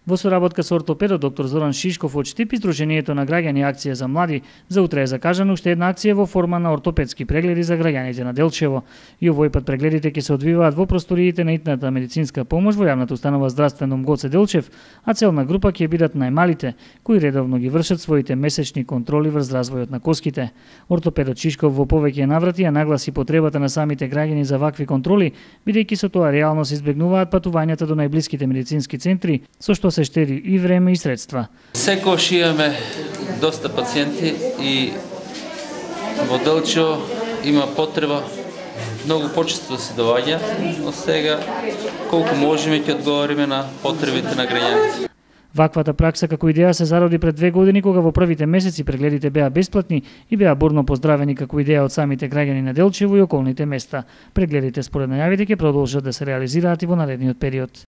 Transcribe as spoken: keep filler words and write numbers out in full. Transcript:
Во соработка со ортопедот доктор Зоран Шишков од Штип и Сдруженијето на граѓани Акција за млади, за утре е закажана уште една акција во форма на ортопедски прегледи за граѓаните на Делчево. И овој пат прегледите ќе се одвиваат во просториите на итната медицинска помош во јавната установа Здравствен дом Гоце Делчев, а целна група ќе бидат најмалите, кои редовно ги вршат своите месечни контроли врз развојот на коските. Ортопедот Шишков во повеќе наврати ја нагласи потребата на самите граѓани за вакви контроли, бидејќи со тоа реално се избегнуваат патувањата до најблиските медицински центри, со што се штеди и време и средства. Секогаш имаме доста пациенти и во Делчево има потреба многу почесто да се доаѓа, но сега колку можеме ќе одговориме на потребите на граѓаните. Ваквата пракса како идеја се зароди пред две години кога во првите месеци прегледите беа бесплатни и беа бурно поздравени како идеја од самите граѓани на Делчево и околните места. Прегледите според најавите ќе продолжат да се реализираат и во наредниот период.